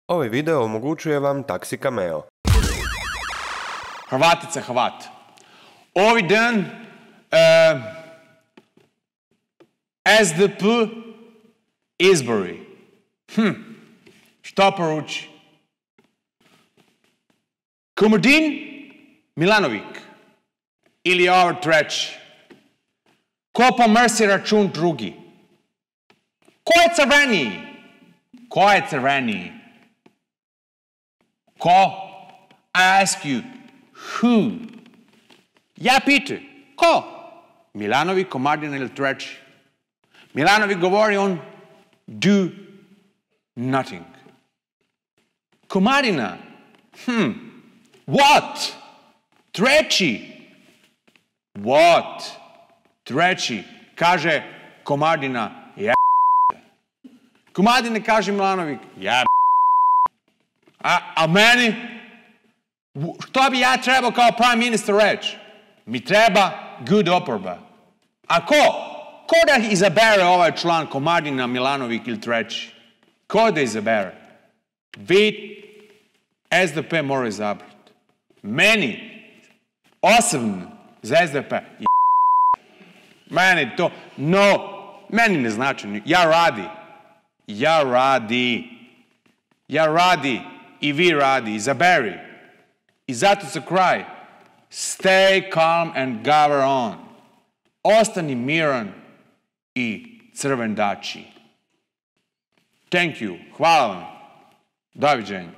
Ovaj video omogućuje vam Taxi Cameo. Hrvatica, Hrvat. Ovaj dan SDP izbori. Što poruči? Komodin Milanovik ili ovaj treći? Ko pomrsi račun drugi? Ko je crveniji? Ko je crveniji? Ko? I ask you, who? Ja pitam, ko? Milanović, Komadina ili treći? Milanović govori on do nothing. Komadina, what? Treći. What? Treći. Kaže Komadina, ja. Komadina kaže Milanović, ja. A meni? Što bi ja trebao kao prime minister reći? Mi treba good oporba. A ko? Ko da izabere ovaj član Komadina, Milanović ili treći? Ko da izabere? Vi SDP mora izabrati. Meni, osobno, za SDP, meni to, meni ne znači, ja radi i vi radi, izaberi. I zato za kraj, stay calm and govern on. Ostani miran i crvendači. Thank you. Hvala vam. Doviđenja.